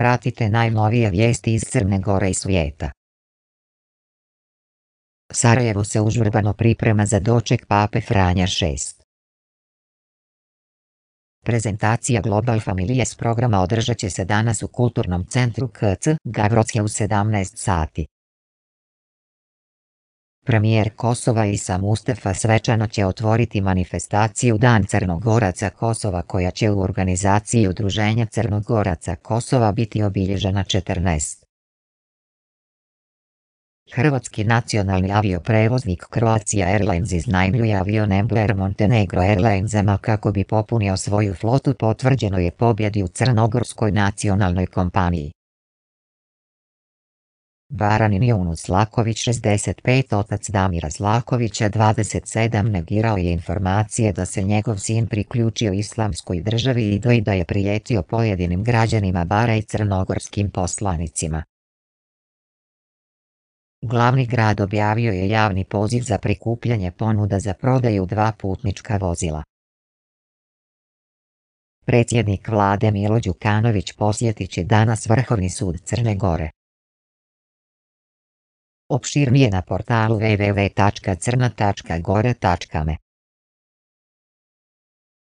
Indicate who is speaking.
Speaker 1: Pratite najnovije vijesti iz Crne Gore i svijeta. Sarajevo se užurbano priprema za doček Pape Franja VI. Prezentacija Global Families programa održat će se danas u Kulturnom centru KC Gavrocija u 17 sati. Premijer Kosova Isa Mustafa svečano će otvoriti manifestaciju Dan Crnogoraca Kosova koja će u organizaciji Udruženja Crnogoraca Kosova biti obilježena 14. Hrvatski nacionalni avioprevoznik Croatia Airlines iznajmljuje avion Embraer Montenegro Airlinesama kako bi popunio svoju flotu, potvrđeno je pobjedi u crnogorskoj nacionalnoj kompaniji. Baranin Junus Slaković 65, otac Damira Slakovića 27, negirao je informacije da se njegov sin priključio Islamskoj državi i da je prijetio pojedinim građanima Bara i crnogorskim poslanicima. Glavni grad objavio je javni poziv za prikupljanje ponuda za prodaju 2 putnička vozila. Predsjednik vlade Milo Đukanović posjetit će danas Vrhovni sud Crne Gore. Opširnije na portalu www.crna.gore.me